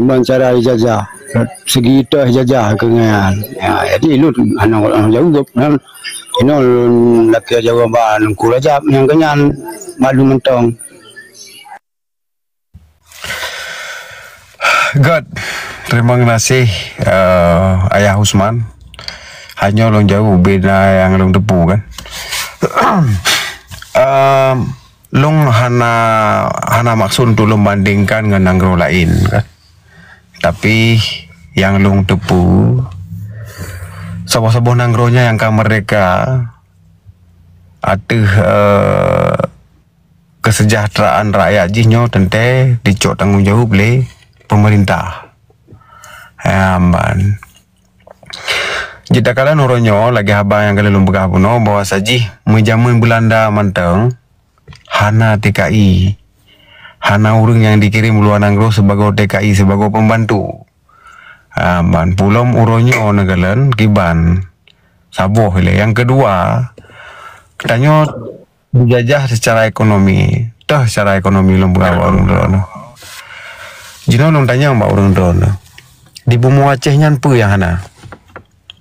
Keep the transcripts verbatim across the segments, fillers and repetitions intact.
Ban cara ijazah, segi toh ijazah keu nyan. Ya, jadi lôn hana jaweueb kan. Inoe lôn lakée jawaban Teungku Rajab nyang keu nyan maklum mantong. Gét, terima kasih uh, Ayah Usman. Hanya lôn jaweueb beda nyang lôn teupeu kan. um, Lôn hana hana maksud untuk lôn bandingkan ngon nanggroe laén kan. Tapi nyang lôn teupeu, saboh-saboh nanggroe nyan nyang ka merdeka ateueh uh, kesejahteraan rakyat jih nyoe teuntée dicok tanggong jaweueb lé pemerintah. Amban. Jeuet takalon uroe nyoe lagée haba nyang ka lheueh lôn peugah bunoe bahwa sajih meujameun Beulanda mantong hana T K I, hana ureuëng nyang dikirém u luwa nanggroe sibagoe T K I sibagoe pembantu. Ha, ban pulom uroe nyoe neukalon kiban saboh ilée. Nyang keudua, tanyoe dijajah secara ekonomi. Teuh secara ekonomi lôn peugah bak ureuëng droeneuh. Jinoe lôn tanyong bak ureuëng droeneuh, di bumoe Aceh nyan peue nyang hana?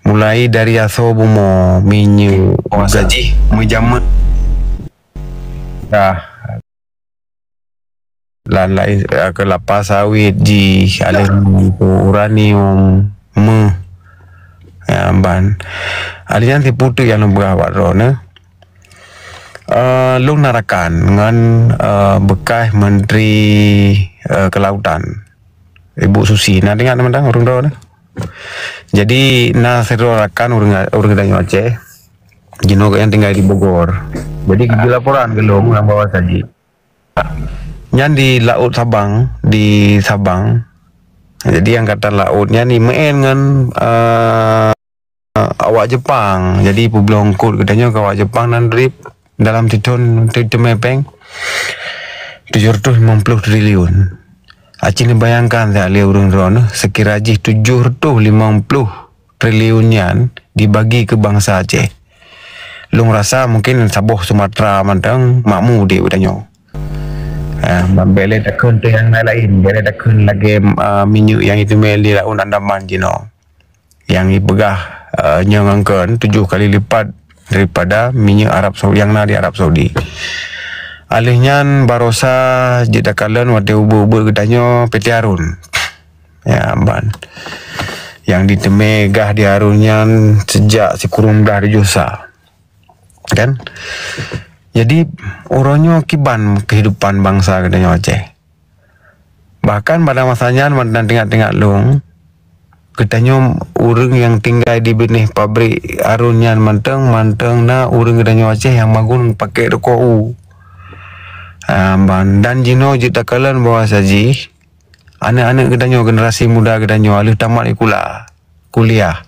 Mulai dari asoe bumoe, minyeuk, oh, gula, sajih meujameun dah, lan lain, eh, kelapa sawit jih, aleh uranium, meuh, ya, ban. Aleh nyan siputeuk nyang lôn peugah bak droeneuh. Uh, lôn na rakan ngon uh, bekas Menteri uh, Kelautan, Ibu Susi. Na ingat mantong ureuëng droeneuh? Jadi na sidroe rakan ureuëng ureuëng geutanyoe Aceh. Jinoe gobnyan tinggai di Bogor. Jadi geujok laporan keu lôn ngon bahwa sajih nyan di laôt Sabang, di Sabang. Jadi angkatan laôt nyan imeu'en ngon uh, awak Jepang. Jadi peubloe eungkôt geutanyoe keu awak Jepang nan rib dalam sithon teumé péng tujoh reutôh limong ploh triliun. Aci neubayangkan that lé ureuëng droeneuh, seukira jih tujoh reutôh limong ploh triliun nyan dibagi keu bansa Aceh. Lôn rasa mungkin saboh Sumatera mantong makmu udeb geutanyoe. Ah, bèk lé takheun teuh nyang laén-laén, bèk lé takheun lagèe ah, minyeuk nyang jiteumé di laôt Andaman jinoe. Nyang jipeugah ah, nyoe ngon kheun tujoh kali lipat daripada minyeuk Arab Saudi nyang na di Arab Saudi. Alheuh nyan barosa jeuet takalon watèe ubeuet-ubeuet geutanyoe P T Harun. Ya, ban. Nyang jiteumé gah di Harun nyan seujak sikureueng blah tujoh sa. Kan? Jadi, uroe nyoe kiban keuhidupan bansa geutanyoe Aceh. Bahkan pada masa nyan, mantong teuingat-teuingat lôn, geutanyoe ureueng nyang tinggai di binéh pabrik Harun nyan mantong, mantong na ureueng geutanyoe Aceh nyang magun pakèk rukok u. Ah, ban. Dan jinoe jeuet takalon bahwa sajih, aneuk-aneuk geutanyoe, generasi muda geutanyoe, alheuh tamat sikula, kuliah,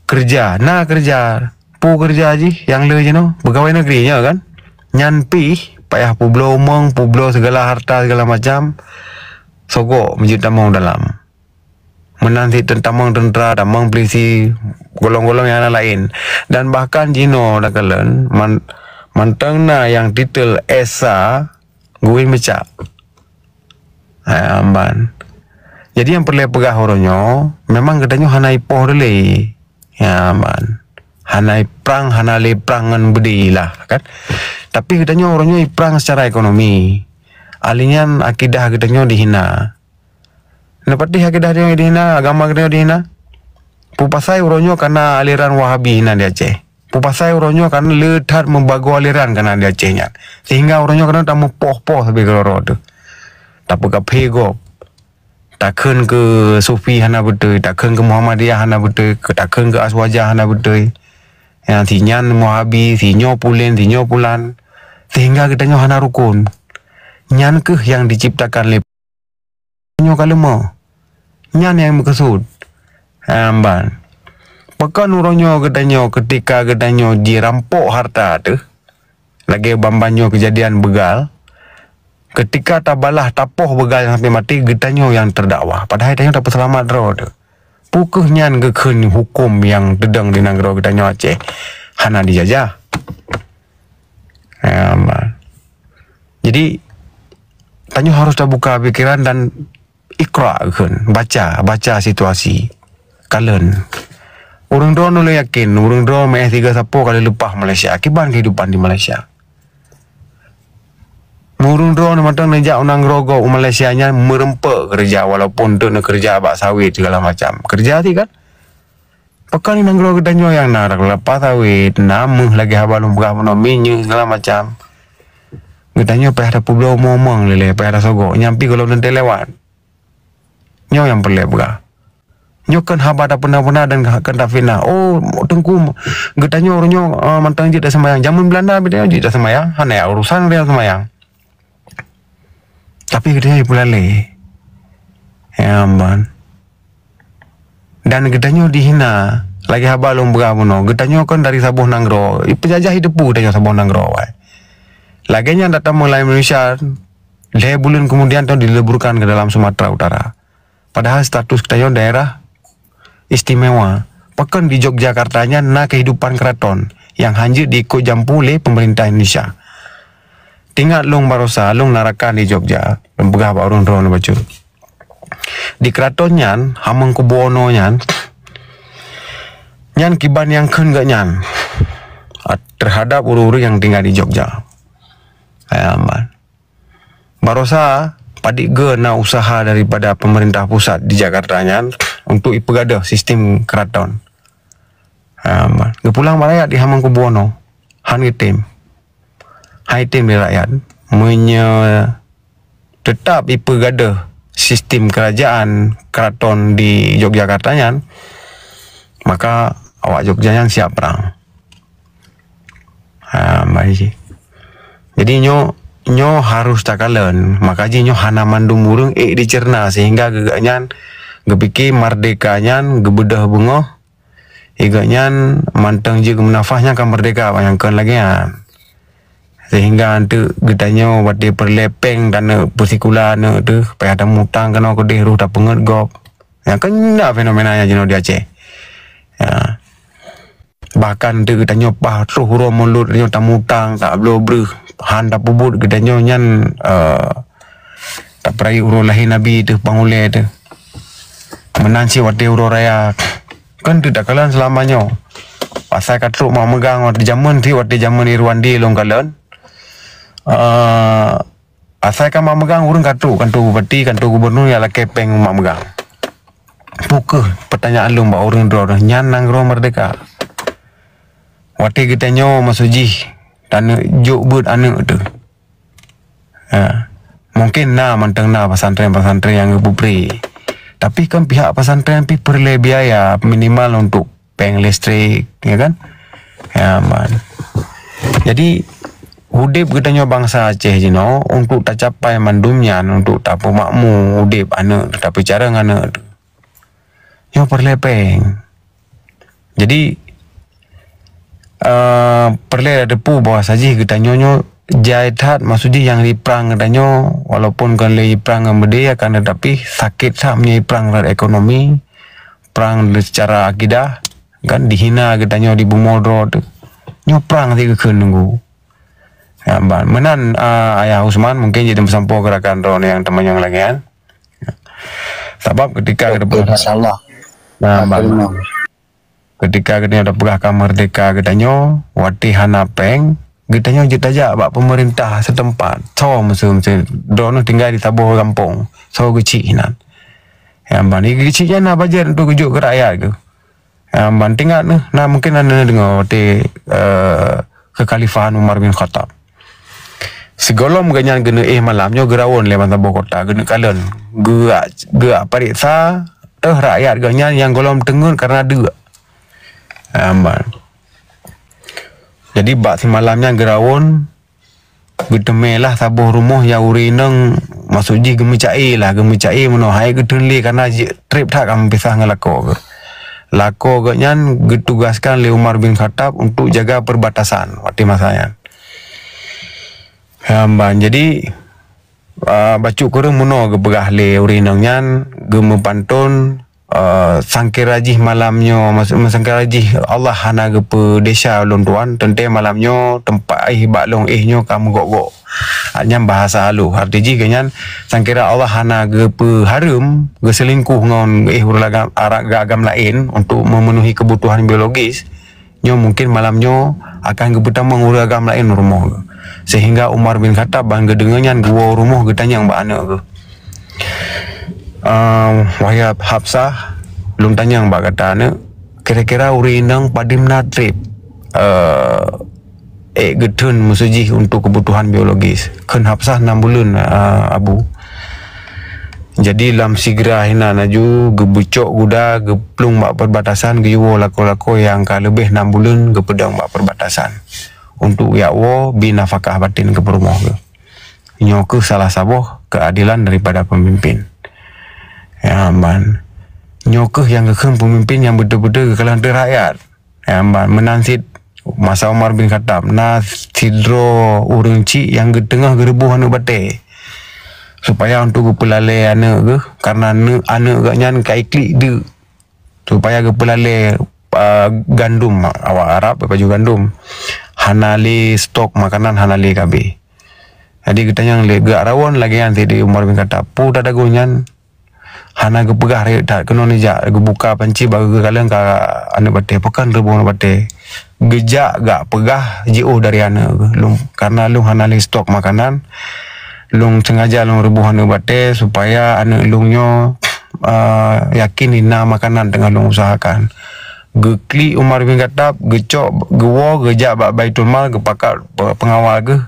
keureuja, na keureuja, peue keureuja jih nyang le jinoe, peugawai negeri nyoe kan. Nyan pih payah peubloe umong, peubloe sigala harta, sigala macam, sogok meujeuet tamong dalam. Meunan cit tamong teuntra, tamong peulisi, golong-golong nyang laén. Dan bahkan jinoe takalon, man-, mantong na nyang titel S A geuwin meucak. Ha, ban. Jadi nyang peureulèe peugah uroe nyoe, memang geutanyoe hana ipoh lé. Ya, ban. Hana iprang, hana lé prang ngon beudé lah, kan. Tapi geutanyoe uroe nyoe iprang secara ekonomi. Alheuh nyan akidah geutanyoe dihina. Neupatéh akidah geutanyoe dihina, agama geutanyoe dihina. Peue pasai uroe nyoe kana aliran Wahabi na di Aceh. Peue pasai uroe nyoe kana le that meubagoe aliran kana di Aceh nyan. Sehingga uroe nyoe kana tameupoh-poh sabe keudroe-droe teuh. Tapeukaphé gob. Takheun keu Sufi hana beutôi, takheun keu Muhammadiyah hana beutôi, keu takheun keu Aswaja hana beutôi. Ya, si nyan Wahabi, si nyoe pulen, si nyoe pulan. Sehingga geutanyoe hana rukon. Nyan keuh nyang diciptakan lé nyoe ka leumo. Nyan nyang meukeusut. Amban. Pakon uroe nyoe geutanyoe keutika geutanyoe jirampok harta teuh, lagèe ban-ban nyoe keujadian beugal, keutika tabalah tapoh beugal nyang sampai maté, geutanyoe nyang teudakwah. Padahai tanyoe tapeuseulamat droe teuh. Peu kheueh nyan geukheun huköm nyang teudong di nanggroe geutanyoe Aceh hana dijajah? Amban. Jadi, tanyoe harôh tabuka pikeran dan Iqra kheun, baca, baca situasi. Kalon. Ureuëng droeneuh lôn yakin, ureuëng droeneuh meu'éh tiga sapo ka lheueh leupah Malaysia. Kiban keuhidupan di Malaysia. Ureuëng droeneuh mantong neujak u nanggroe gob u Malaysia nyan meureumpok keureuja, walaupun teuk neukeureuja bak sawét segala macam. Keureuja ti kan? Pakon di nanggroe geutanyoe nyang na rap-rap sawét, na méuh lagée haba lôn peugah bunoe, minyeuk segala macam. Geutanyoe payah tapeubloe umong-umong lé, payah tasogok. Nyan pih gohlom teuntée lewat. Nyoe nyang peureulée peugah. Nyoe kon haba tapeuna-peuna dan kon tafitnah. Oh, teungku, geutanyoe uroe nyoe, eh, mantong jeuet taseumayang. Jameun Beulanda geutanyoe jeuet taseumayang, hana urusan geutanyoe seumayang. Tapi geutanyoe jipeulalé. Ya, man. Dan geutanyoe dihina, lagée haba lôn peugah bunoe. Geutanyoe kon dari saboh nanggroe. Peujajah jiteupeue geutanyoe saboh nanggroe, wai. Lagée nyan tatamong lam Indonesia, lhée buleuen keumudian tanyoe dileburkan ke dalam Sumatera Utara. Padahal status geutanyoe daerah istimewa. Pakon di Yogyakarta nyan na kehidupan keraton nyang hana jeuet diikot jampu lé pemerintah Indonesia. Teuingat lôn barosa, lôn na rakan di Jogja, lôn peugah bak ureuëng droeneuh bacut. Di keraton nyan, Hamengkubuwono nyan, nyan kiban nyang kheun geuh nyan, a, terhadap ureuëng-ureuëng nyang tinggai di Jogja. Hai aman. Barosa, padit geu na usaha daripada pemerintah pusat di Jakarta nyan untuk ipeugadôh sistem keraton. Ha, ma-, geupulang bak rakyat di Hamengkubuwono. Han geutem. Han geutem di rakyat. Meunyoe teutap ipeugadôh sistem kerajaan keraton di Yogyakarta nyan, maka awak Jogja nyan siap prang. Ha, mari. Jadi nyoe, nyoe harus takalon. Maka jih nyoe hana mandum ureuëng ék dicerna sehingga geuh nyan geupike merdeka nyan geubeudôh beungoh. Geuh nyan mantong jeuet geumeunafah nyan ka merdeka, nyang kon lagée nyan. Sehingga anteuk geutanyoe watée peureulée péng taneuk peusikula aneuk teuh, payah tamutang keunoe keudeh roh tapeungét gob. Nyang kon na fenomena nyan jinoe di Aceh. Ya. Bahkan teuk geutanyoe paih troh uroe mulod nyoe tamutang, tabloe breueh, han tapeubuet geutanyoe nyan, eh, tapeurayeuk uroe lahé Nabi teuh pang ulée teuh. Meunan cit watée uroe raya, kan teuk takalon seulama nyoe. Pasai ka trok mak meugang watée jameun cit, watée jameun Irwandi lôn kalon. Eh, Asai ka mak meugang ureuëng ka trok kantor bupati, kantor gubernur nyang lakée péng mak meugang. Peu kheueh peutanyaan lôn bak ureuëng droeneuh nyan nanggroe merdeka? Watée geutanyoe maksud jih taneuk jok beuet aneuk teuh. Ha. Mungkin na mantong na pesantren-pesantren nyang geupeupré. Tapi kan pihak pesantren pih peureulée biaya minimal untuk péng listrik, ya kan? Ya, man. Jadi, udeb geutanyoe bansa Aceh jinoe untuk tacapai mandum nyan, untuk tapeumakmu udeb aneuk, tapeucarông aneuk, nyoe peureulée péng. Jadi, eh, peureulée tateupeue bahwa sajih geutanyoe nyoe jai that, maksud jih nyang jiprang geutanyoe, walaupun kon lé jiprang ngon beudé, akan tetapi sakét that meunyoe jiprang rot ekonomi, prang secara akidah, kan dihina geutanyoe di bumoe droe teuh. Nyoe prang sit geukheun nunggu. Ya, ban. Meunan, ah, Ayah Usman, mungkin jadi meusampoe gerakan droe nyang teumanyong lagée nyan. Sabab ketika Oke, geutanyoe, masya Allah. Nah, ban. Terima. Ketika geutanyoe tapeugah ka merdeka geutanyoe, watée hana péng, geutanyoe jeuet tajak bak pemerintah setempat. Soe meuseu-meuseu droeneuh tinggai di saboh gampông, soe geuchik hinan. Ya, ban geuchik nyan na bajet untuk geujok keu rakyat geuh. Ya, ban teuingat neuh, na mungkin na neudeungoe watée, eh, kekhalifahan Umar bin Khattab. Sigohlom geuhnyan geuneuk éh malam nyoe geurawon lé ban saboh kota, geuneuk kalon. Geuak, geuak pareksa, eh, rakyat geuhnyan nyang gohlom teungeut kareuna deuk. Aman. Jadi bak simalam nyan geurawon, geuteumé lah saboh rumoh nyang ureuëng inong, maksud jih geumeucaé lah, geumeucaé meunoe, hai geuteun lé kareuna jeuet treb that ka meupisah ngon lakoe geuh. Lakoe geuhnyan geutugaskan lé Umar bin Khattab untuk jaga perbatasan watée masa nyan. Aman. Jadi, ah, bacut kureueng meunoe geupeugah lé ureuëng inong nyan, geumeupantôn, eh, sangkira jih malam nyoe, maksud, sangkira jih Allah hana geupeudesya ulôn tuan, teuntée malam nyoe teumpat éh bak lôn éh nyoe ka meugok-gok. Nyan bahasa halus. Arti jih geuh nyan, sangkira Allah hana geupeuhareuem geuseulingkoh ngon éh ureuëng agam, ara-, agam laén untuk memenuhi kebutuhan biologis, nyoe mungkin malam nyoe akan geupeutamong ureuëng agam laén rumoh geuh. Sehingga Umar bin Khattab ban geudeungoe nyan geuwoe rumoh geutanyong bak aneuëk geuh. Ehm, wahai Hafsah, lôn tanyong bak gata aneuëk, kira-kira ureuëng inong padum na treb, eh, ék geutheun meuseu jih untuk kebutuhan biologis. Kheun Hafsah nam buleuen, eh, Abu. Jadi lam sigra hinan laju geubeucok guda, geuplueng bak perbatasan, geuyue lakoe-lakoe nyang ka leubeh nam buleuen geupeudong bak perbatasan. Untuk jak woe bi nafakah batin keu peurumoh geuh. Nyoe kheueh salah saboh keuadelan daripada peumimpin. Ya, man. Nyoe kheueh nyang geukheun peumimpin nyang beutôi-beutôi geukalon teuh rakyat. Ya, man. Meunan cit masa Umar bin Khattab, na sidroe ureuëng chik nyang geuteungoh geureuboh aneuëk batée. Supaya untuk geupeulalée aneuëk geuh, karena aneuëk, aneuëk geuh nyan ka iklik deuk. Supaya geupeulalée, ah, gandum, awak Arab pajoh gandum. Hana lé stok makanan, hana lé kabeh. Jadi geutanyong lé geurawon lagée nyan sideh Umar bin Khattab. Peue tadagoe nyan hana geupeugah rayeuk that keunoe neujak geubuka panci bak geukalon ka aneuëk batée, pakon reuboh aneuëk batée. Geujak gak peugah jiôh dari aneuëk geuh. Lôn, karena lôn hana lé stok makanan, lôn sengaja lôn reuboh aneuëk batée supaya aneuëk lôn nyoe, eh, yakin na makanan teungoh lôn usahakan. Geuklik Umar bin Khattab, geucok, geuwoe, geujak bak Baitul Mal, geupakat pe-, peungawal geuh.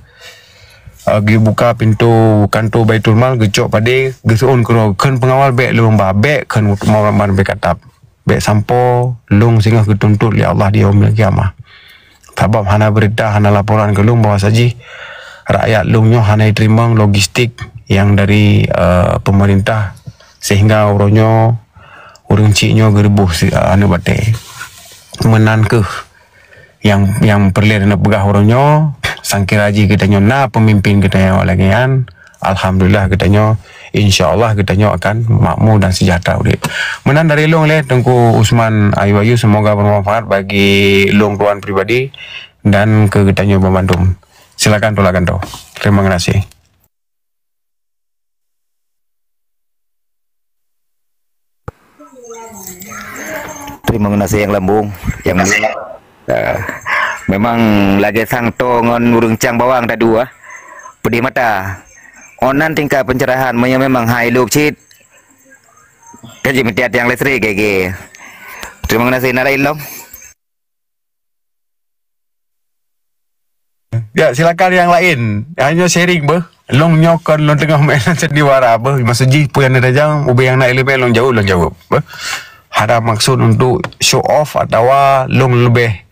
Eh, geubuka pintoe kantô Baitul Mal, geucok padé, geuseuôn keudroe, kheun peungawal bék lôn ba, bék kheun Umar bin Khattab. Bék sampoe lôn singoh geutuntot lé Allah di Yaumul Qiyamah. Sabab hana beurita, hana laporan keu lôn bahwa sajih rakyat lôn nyoe hana jiteurimong logistik nyang dari, eh, peumeurintah, sehingga uroe nyoe ureuëng chik nyoe geureuboh si, eh, aneuëk batée. Meunan kheueh nyang, nyang peureulée neupeugah uroe nyoe, sangkira jih geutanyoe na peumimpin geutanyoe lagée nyan, alhamdulillah geutanyoe, insya Allah geutanyoe akan makmu dan seujahtera udeb. Meunan dari lôn lé Teungku Usman Ayu Ayu, semoga bermanfaat bagi lôn tuan pribadi dan keu geutanyoe banmandum. Silakan tolak gantoe. Terima kasih. Terima kasih yang lambung, yang mulia. Ah, memang lagée sang to ngon ureuëng cang bawang tadu, ah. Pedih mata. Onan tingkat pencerahan, meunyoe memang hai lok cit. Kaji meuti tiang listrik gege. Terima kasih, na laén lom. Ya, silakan yang lain. Hanya sharing beuh. Lôn nyoe kon lôn teungoh meunan sandiwara beuh. Maksud jih peue nyang neurajang, ubé nyang na ileumèe lôn jaweueb, lôn jaweueb. Beuh. Hana maksud untuk show off atawa lôn leubeh,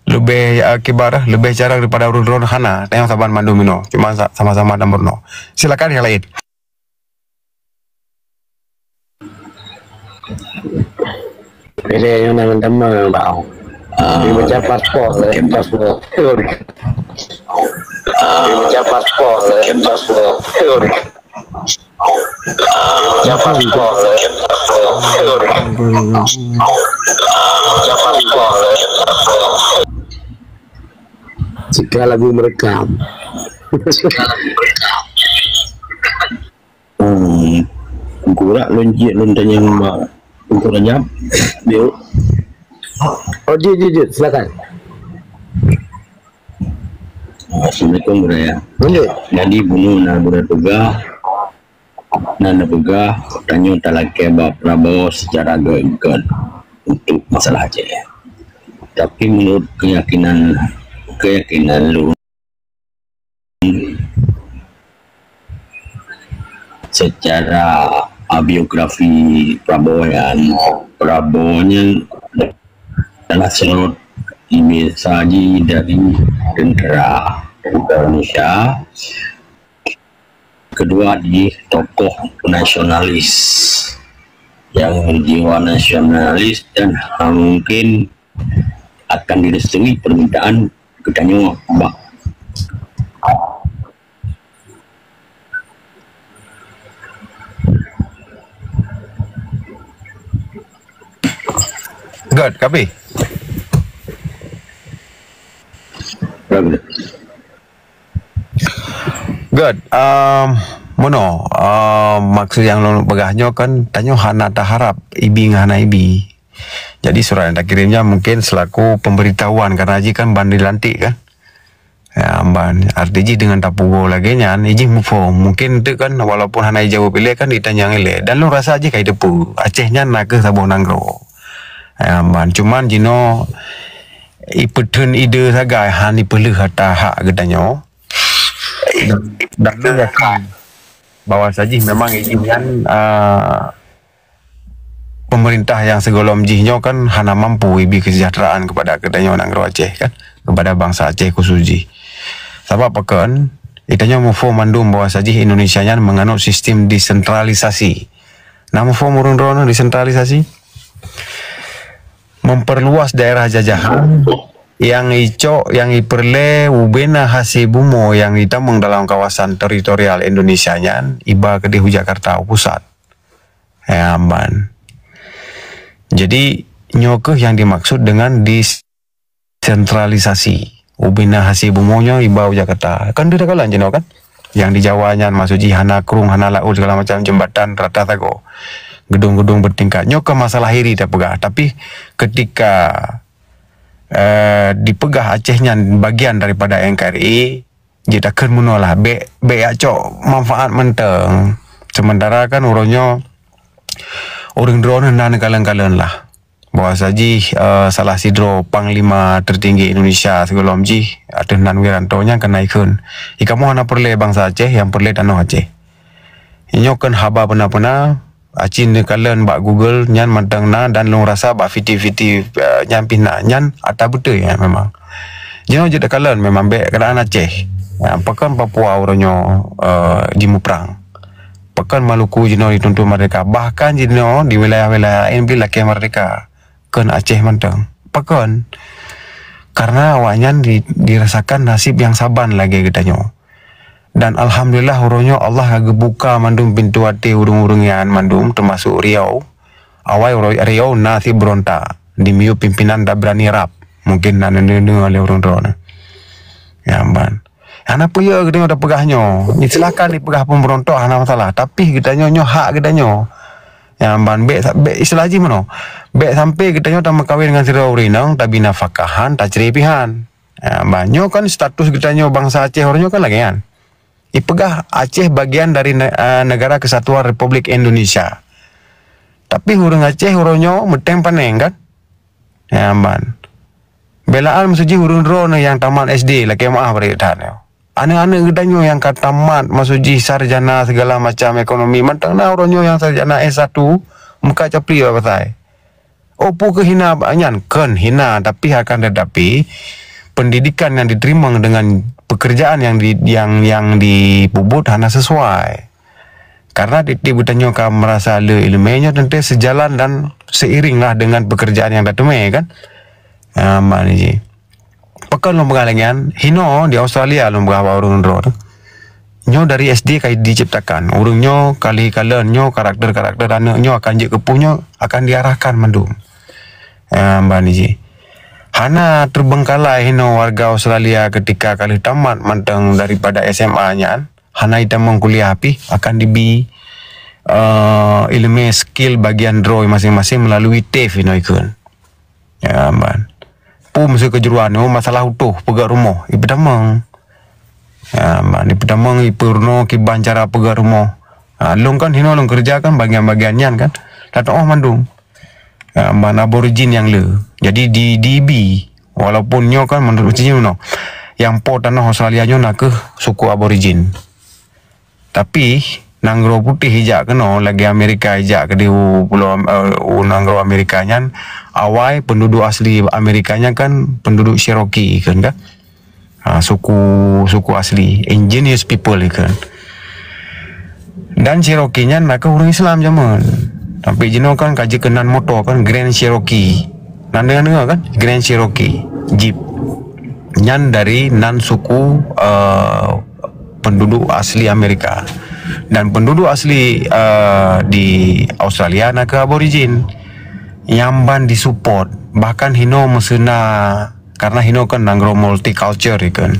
leubeh, ya, kibar, leubeh carông daripada ureueng droen, hana. Tanyoe saban mandum inoe. Cuma sa-, sama-sama dan beureunoe. Silakan yang lain. Pilih yang nama-nama bang. Dia macam paspor, eh, paspor. Dia macam paspor, eh, paspor. Dia macam paspor, eh, paspor. Dia macam paspor, eh, paspor. Jika lagu merekam. Hmm. Gurak lôn jeuet lôn tanyong bak Teungku Rajab. Yuk. Oh, jeuet, jeuet, jeuet. Silakan. Assalamualaikum, Buya. Lanjut. Jadi, bunoe na Buya peugah, na neupeugah, tanyoe talakée bak Prabowo secara gét-gét untuk masalah Aceh. Tapi menurut keyakinan, keyakinan lôn, secara, ah, biografi Prabowo nyan, Prabowo nyan adalah seorang biasa ji dari tentera, tentera Indonesia. Kedua, dia tokoh nasionalis yang jiwa nasionalis dan, ah, mungkin akan direstui permintaan geutanyoe bak. Good, ka abéh. Bagus. Good. Um, mono, um, maksud nyang lôn peugah nyoe kan, tanyoe hana taharap ibi ngon hana ibi. Jadi surat nyang takirém nyan mungkin selaku pemberitahuan, karena jih kan ban dilantik kan. Ya, ban arti jih dengan tapugo lagée nyan, ijih muphom. Mungkin tu kan walaupun hana ijaweueb ilée kan ditanyong ilée. Dan lôn rasa jih ka iteupeue, Aceh nyan nakeuh saboh nanggroe. Ya, ban cuman jinoe ipeutheun ide sagai han ipeuleueh ata hak geutanyoe. Dan lôn yakin bahwa sajih memang ijih nyan, ah, pemerintah yang sigohlom jih nyoe kan hana mampu ibi kesejahteraan kepada geutanyoe nanggroe Aceh kan, kepada bangsa Aceh khusus jih. Sabab pakon, geutanyoe muphom mandum bahwa sajih Indonesia nyan menganut sistem desentralisasi. Na muphom ureuëng droeneuh desentralisasi? Memperluas daerah jajahan yang icok, yang iperle ubena hase bumoe yang itamong dalam kawasan teritorial Indonesia nyan iba keudeh u Jakarta u pusat. Ya, ban. Jadi, nyoe keuh yang dimaksud dengan desentralisasi. Ubena hase bumoe nyoe iba u Jakarta. Kan deuh takalon jinoe kan? Yang di Jawa nyan maksud jih hana krueng, hana laôt, segala macam jembatan rata sagoe. Gedung-gedung bertingkat. Nyoe keuh masalah hiri tapeugah. Tapi ketika, eh, dipeugah Aceh nyan bagian daripada N K R I, jeuet takheun meunoe lah. Bék, bék jak cok manfaat mantong. Sementara kan uroe nyoe ureuëng droeneuh na neukalon-kalon lah. Bahwa sajih, eh, salah sidroe panglima tertinggi Indonesia sigohlom jih, ateueh nan Wiranto nyan keunan ikheun, "Ikamoe hana peureulée bansa Aceh, nyang peureulée tanoh Aceh." Nyoe kheun haba peuna-peuna, aci neukalon bak Google nyan mantong na dan lôn rasa bak fiti-fiti, eh, nyan pih na. Nyan ata beutôi nyan memang. Jinoe jeuet takalon memang bék keuadaan Aceh. Ya, pakon Papua uroe nyoe, eh, jimuprang. Pakon Maluku jinoe dituntut merdeka. Bahkan jinoe di wilayah-wilayah laén pih lakée merdeka. Kheun Aceh mantong. Pakon? Karena awaknyan di, dirasakan nasib nyang saban lagée geutanyoe. Dan alhamdulillah uroe nyoe Allah ka geubuka mandum pintoe até ureuëng-ureuëng nyan mandum, teumasuk Riau. Awai uroe Riau na sit beurontak di miyueb pimpinan Dabrani Rap. Mungkin na neudeungoe lé ureuëng droeneuh. Ya, ban. Hana peue geutanyoe tapeugah nyoe. Silahkan dipeugah pun beurontok hana masalah. Tapi geutanyoe nyoe hak geutanyoe. Ya, ban bék sa-, bék istilah jih meunoe. Bék sampai geutanyoe tameukawen ngon sidroe ureuëng inong, tabi nafakahan, tacre pihan. Ha, bah, nyoe kan status geutanyoe bansa Aceh uroe nyoe kan lagée nyan. Ipeugah Aceh bagian dari ne-, ah, Negara Kesatuan Republik Indonesia. Tapi ureuëng Aceh uroe nyoe meuteng paneng kan? Ya, ban. Belaan meusujih ureuëng droeneuh nyang tamat S D, lakée meuah bari that nyoe. Aneuëk-aneuëk geutanyoe nyang ka tamat, maksud jih sarjana segala macam ekonomi, mantong na uroe nyoe nyang sarjana S satu, muka capli bak pasai. Oh, peue keuh hina bak nyan? Kheun hina, tapi akan tetapi, pendidikan yang diterima dengan pekerjaan yang di, yang, yang dipubuet hana sesuai. Karena tieb-tieb geutanyoe ka merasa le ileumé nyoe tentu sejalan dan seiring lah dengan pekerjaan yang tateumé kan. Ha, makna jih. Pakon lôn peugah lagée nyan, hinoe di Australia lôn peugah bak ureuëng droe tu. Nyoe dari S D ka diciptakan. Ureuëng nyoe kali kalon nyoe karakter-karakter aneuëk nyoe akan jeuet keu peue nyoe akan diarahkan mandum. Ah, ban jih. Hana terbengkalai hinoe warga Australia ketika ka lheueh tamat mantong daripada S M A nyan, hana itamong kuliah pih akan dibi, eh, ileumé skill bagian droe masing-masing melalui TAFE hinoe ikheun. Ya, ban. Pum sikeujruan nyoe masalah utoh peugah rumoh, ipeutamong. Ya, ban, ipeutamong, ipeurunoe kiban cara peugah rumoh. Ha, lôn kan hinoe lôn keureuja kan bagian-bagian nyan kan. Tatuoh mandum. Ha, ban Aborigin nyang le. Jadi di, di ibi, walaupun nyoe kan menurut uji nyoe, nyang po tanoh Australia nyoe nakeuh suku Aborigin. Tapi nanggroe putéh ijak keunoe lagée Amerika ijak keudeh u pulo, eh, u nanggroe Amerika nyan, awai penduduk asli Amerika nyan kan penduduk Cherokee kan, kan? Ha, suku, suku asli, indigenous people kan. Dan Cherokee nyan nakeuh ureuëng Islam jameun. Tapi jinoe kan ka jikeunan moto kan Grand Cherokee. Nan deungoe kan? Grand Cherokee, Jeep. Nyan dari nan suku, eh, penduduk asli Amerika. Dan penduduk asli, eh, di Australia nakeuh Aborigin. Nyang ban disupport. Bahkan hinoe meuseuna, karena hinoe kan nanggroe multiculture kan.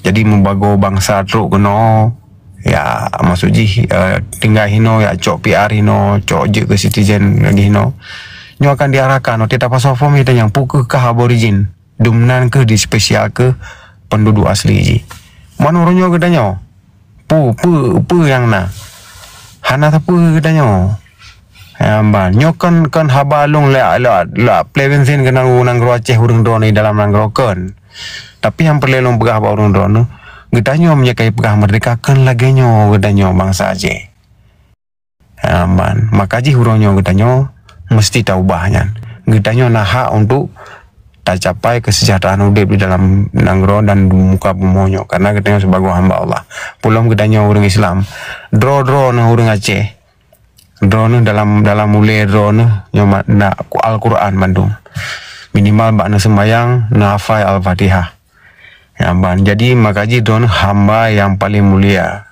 Jadi meubagoe bansa trok keunoe, ya, maksud jih, eh, tinggai hinoe, ya, cok P R hinoe, cok jeuet keu citizen lagèe hinoe. Nyoe akan diarahkan, watèe tapasoe form, geutanyoe, peu kheueh kah aborigin, dum nan kheueh dispesial keu penduduk asli jih. Man uroe nyoe geutanyoe, peu, peu, peu nyang na? Hana sapeue geutanyoe. Nyan ban. Nyoe kon, kon haba lôn lé, lé, lé plé bensin keunan u nanggroe Aceh ureueng droeneuh dalam nanggroe kon. Tapi nyang peureulèe lôn peugah bak ureueng droeneuh, geutanyoe meunyoe ka jipeugah meurdeka kon lagèe nyoe geutanyoe bansa Aceh. Nyan ban. Maka jih uroe nyoe geutanyoe meuseuti taubah nyan. Geutanyoe na hak untuk tacapai keuseujahteuraan udép di dalam nanggroe dan di muka bumoe nyoe, karena geutanyoe sibagoe hamba Allah. Peulom geutanyoe ureueng Islam, droe-droeneuh ureueng Aceh, droeneuh dalam, dalam ulèe droeneuh nyoe ma-, na Al-Qur'an mandum. Minimal bak neuseumbayang, neuhafai Al-Fatihah. Nyan ban. Jadi, maka jih droeneuh hamba nyang paleng mulia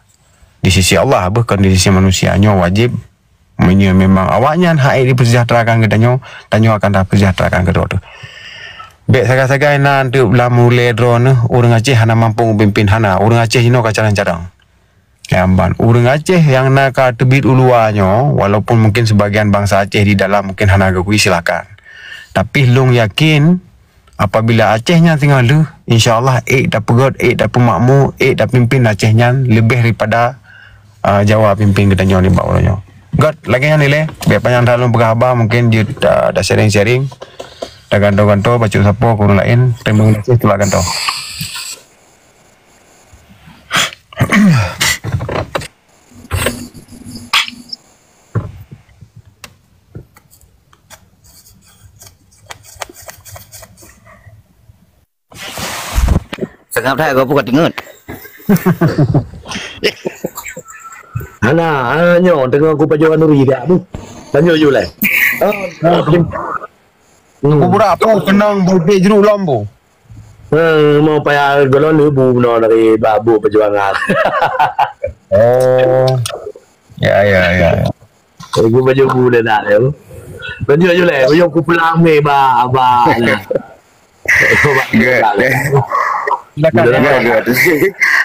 di sisi Allah, bukan di sisi manusia. Nyoe wajéb. Meunyoe memang awaknyan hana jipeuseujahterahkan geutanyoe, tanyoe akan tapeuseujahterahkan keudroe teuh. Bèk sagai-sagai na teuk lam ulèe droeneuh, ureueng Aceh hana mampu geupimpin, hana. Ureueng Aceh jinoe ka carông-carông. Nyan ban. Ureueng Aceh nyang na ka teubiet u luwa nyoe, walaupun mungkin sebagian bansa Aceh di dalam mungkin hana geukui, silakan. Tapi lôn yakin, apabila Aceh nyan singoh lheueh, insya Allah ék tapeugöt, ék tapeumakmu, ék tapimpin Aceh nyan leubeh daripada, ah, Jawa pimpin geutanyoe nibak uroe nyoe. Göt, lagèe nyan ilèe, bèk panyang that lôn peugah haba, mungkin jeuet, ah, ta-sharing-sharing, tagantoe-gantoe, bacut sapo keu ureueng laén. Teurimong gaséh, tulak gantoe. Seungab that, gob ka teungeut. Hana, hana nyoe, teungoh kupajoh khanuri dak tu. Tanyoe ju lé. Oh, oh, hmm. Kuburak apa keunong bubé jeruk lom bu. Eh, mau payah golon bu bunoe dari Babu Perjuangan. Oh. Ya, ya, ya, ya. Aku baju bu dah nak tu. Tunjuk je lah, baju aku pulang meh ba, ba lah. Good. Good, good.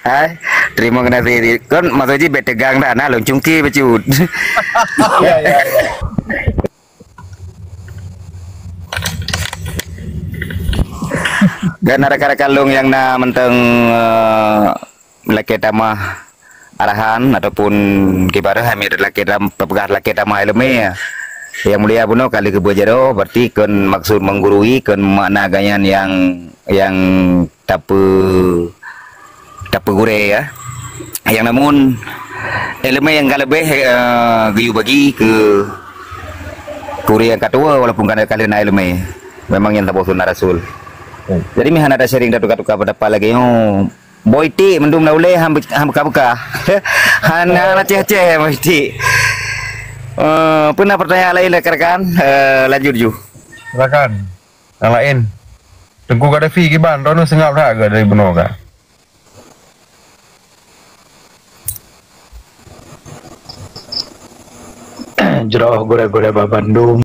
Hai, terima kasih. Kan Mas Haji bèk tegang dah, nah lôn cungké bacut. Ya, ya, ya. Dan ada rakan-rakan lôn nyang na mantong, eh, lakèe tamah arahan ataupun kibarah, hami lakèe tam-, peugah lakèe tamah ileumèe. Yang mulia bunoe kali keubeujaroe, berarti kon maksud menggurui, kon makna geuhnyan nyang, nyang tapeu-, tapeugurèe, ya. Yang namun ileumèe nyang ka leubeh, eh, geuyue bagi keu, keu ureueng nyang ka tuwoe, walaupun ka, ka lheueh na ileumèe. Memang nyan saboh sunah Rasul. Jadi meuhana ta-sharing, tatuka-tuka pendapat lagèe nyoe. Boy Tik mandum na ulèe han be-, han beuka-beuka. Hana, hana ceh-ceh Boy Tik. Eh, peue na pertanyaan laén, rakan-rakan? Eh, lanjut ju. Silakan. Nyang laén. Teungku Gaddafi kiban, droeneuh seungab that geuh dari bunoe ka? Jroh gurèe-gurèe bak bandum.